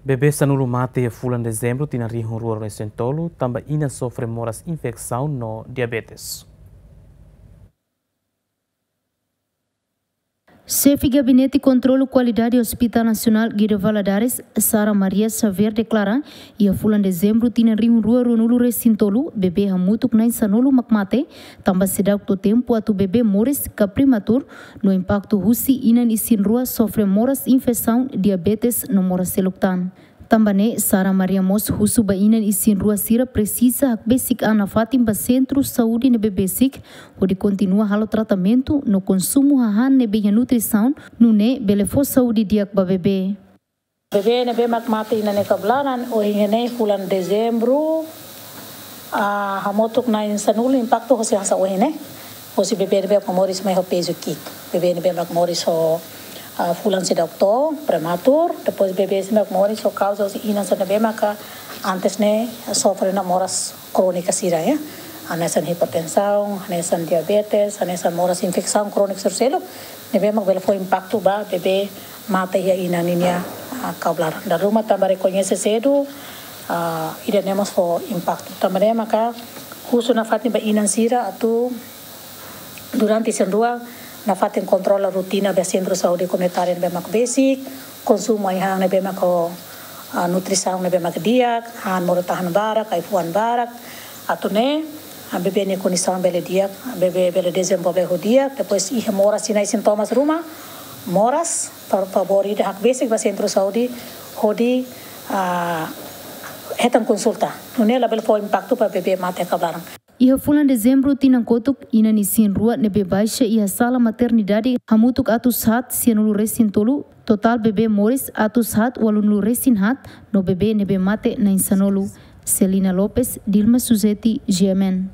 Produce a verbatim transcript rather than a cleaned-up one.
Bebé sanulu mate iha fulan Dezembru tinan rihun rua ruanulu-resin-tolu, tanba inan sofre moras infesaun no diabetes. Xefe Gabinete Kontrolu Kualidade Hospital Nasionál Guido Valadares, Sara Maria Xavier deklara, iha fulan Dezembru tinan rihun rua ruanulu-resin-tolu, bebé hamutuk na'in sanulu mak mate, tanba seidauk to'o tempu atu bebé moris ka prematur, no impaktu husi inan isin-rua sofre moras infesaun, diabetes no moras seluk tan. Tanba ne'e, Sara Maria mós husu ba inan isin-rua sira presiza hakbesik an nafatin ba sentru saúde ne'ebé besik, hodi kontinua halo tratamentu no konsumu hahán ne'ebé iha nutrisaun, nune'e bele fó saúde di'ak ba bebé. Bebé ne'ebé mak mate iha ne'e kabalan, ohin ne'e fulan Dezembru, ah, hamutuk na'in sanulu impaktu hosi hanesan ohin ne'e. Hosi bebé ne'ebé mak moris mai ho pezu ki'ik. Bebé ne'ebé mak moris ho, ah, fulan seidauk to'o, prematur. Depois bebé ne'ebé mak moris ho kauza hosi inan sira ne'ebé maka antes ne'e sofre ona moras krónika sira, ya. Hanesan hipertensaun, hanesan diabetes, hanesan moras infesaun krónika seluk-seluk. Ne'ebé mak bele fó impaktu ba bebé mate iha inan ninia, ah, kabalan. Dala ruma tanba rekoñese sedu, ah, ida-ne'e mós fó impaktu. Tanba ne'e maka husu nafatin ba inan sira atu durante isin-rua nafatin kontrola rotina ba sentru saúde komunitáriu ne'ebé mak besik, konsumu ai-han ne'ebé mak ho, ah, nutrisaun ne'ebé mak di'ak, han modo-tahan barak, ai-fuan barak, atu nune'e, ah, bebé nia kondisaun bele di'ak, bebé bele dezenvolve ho di'ak, depois iha moras sinais sintomas ruma, moras, fa-, favór ida hakbesik ba sentru saúde, hodi, ah, hetan konsulta. Nune'e labele fó impaktu ba bebé mate kabalan. Iha fulan Dezembru tinan kotuk, inan isin-rua ne'ebé baixa iha sala maternidade hamutuk atus haat sianulu-resin-tolu, totál bebé moris atus haat ualunulu-resin-haat, no bebé ne'ebé mate na'in sanulu. Celina Lopes, Dilma Suzeti, G M N.